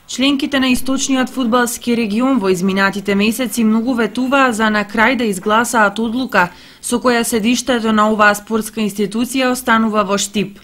Членките на источниот фудбалски регион во изминатите месеци многу ветуваа за на крај да изгласаат одлука со која седиштето на оваа спортска институција останува во Штип.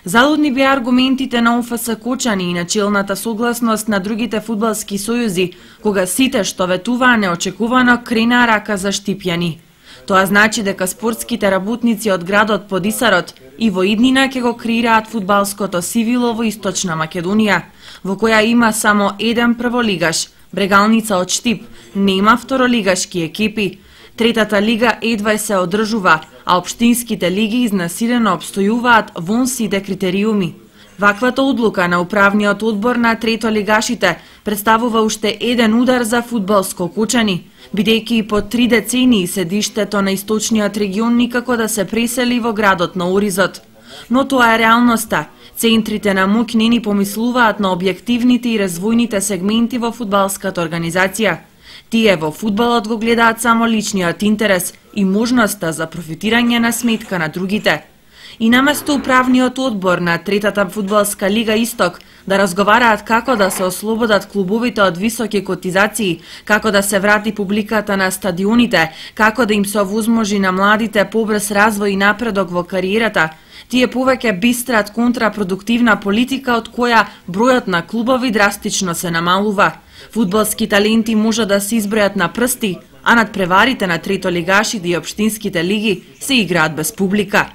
Залудни беа аргументите на ОФС Кочани и начелната согласност на другите фудбалски сојузи, кога сите што ветуваа неочекувано кренаа рака за штипјани. Тоа значи дека спортските работници од градот Подисарот и во иднина ќе го креираат фудбалското сивило во Источна Македонија, во која има само еден прволигаш, Брегалница од Штип, нема второлигашки екипи. Третата лига едва се одржува, а општинските лиги изнасилено обстојуваат вон сите критериуми. Ваквата одлука на управниот одбор на третолигашите представува уште еден удар за фудбалско Кочани, бидејќи и по 3 децении седиштето на источниот регион никако да се пресели во градот на Оризот. Но тоа е реалноста. Центрите на моќ не ни помислуваат на објективните и развојните сегменти во фудбалската организација. Тие во фудбалот го гледаат само личниот интерес и можноста за профитирање на сметка на другите. И наместо управниот одбор на третата фудбалска лига Исток да разговараат како да се ослободат клубовите од високи котизации, како да се врати публиката на стадионите, како да им се овозможи на младите побрз развој и напредок во кариерата, тие повеќе бистрат контрапродуктивна политика од која бројот на клубови драстично се намалува. Фудбалски таленти може да се избројат на прсти, а надпреварите на третолигашите и општинските лиги се играат без публика.